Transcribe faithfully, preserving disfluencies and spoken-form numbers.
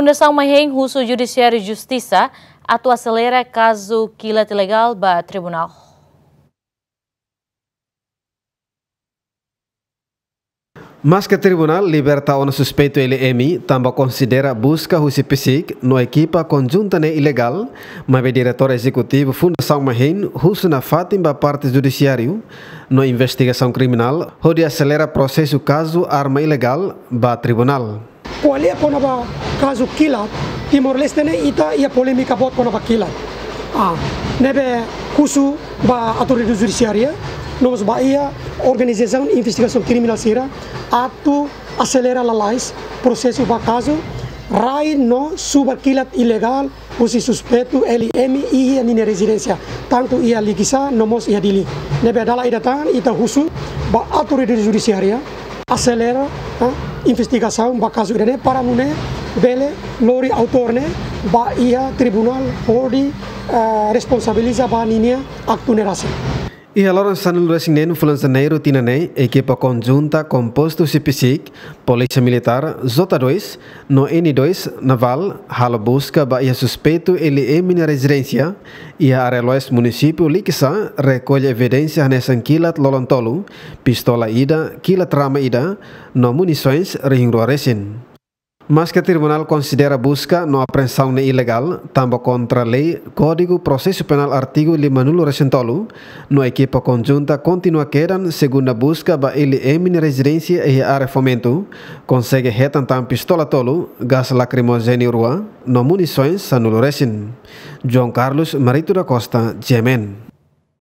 Fundasaun Mahein husu Judisiáriu Justisa atu aselera kazu kilat ilegál ba tribunál. Maske tribunál liberta ona suspeitu L M tanba konsidera buska husi PCIC no ekipa konjunta ne'e ilegál, maibé diretór ezekutivu Fundasaun Mahein husu nafatin ba parte judisiáriu no investigasaun kriminál hodi aselera prosesu kazu arma ilegál ba tribunál. Ko'alia kona-ba kazu kilat, Timor-Leste ne'e ita iha polémika boot kona-ba kilat. Ah, ne'ebé husu ba autoridade judisiária, no mós ba iha organizasaun investigasaun kriminál sira, atu aselera lalais prosesu ba kazu rai no subar kilat ilegál husi suspeitu L M iha ninia rezidénsia, tantu iha Likisá no mós iha Dili. Ne'ebé dala ida tan ita husu ba autoridade judisiária aselera, ah, investigasaun ba kazu ida-ne'e para nune'e bele lori autór ne'e ba iha tribunál hodi, ah, responsabiliza ba ninia aktu ne'e rasik. Iha loron sanulu-resin-neen fulan Janeiru tinan ne'e, ekipa konjunta kompostu husi PCIC, Polísia Militár, J dois, no N dois Navál halo buska ba iha suspeitu L M nia rezidénsia iha área leste munisípiu Likisá, rekolle evidénsia hanesan kilat lolon tolu, pistola ida, kilat rama ida, no munisoens rihun rua resin. Maske tribunál konsidera buska no apreensaun ne'e ilegál, tanba kontra lei Kódigu Prosesu Penál artigu limanulu-resin-tolu, no ekipa konjunta kontinua kedan segunda buska ba L M nia rezidénsia iha área Fomento, konsege hetan tan pistola tolu, gás lakrimojéneu rua, no munisoens sanulu resin. João Carlos Marito da Costa, G M N.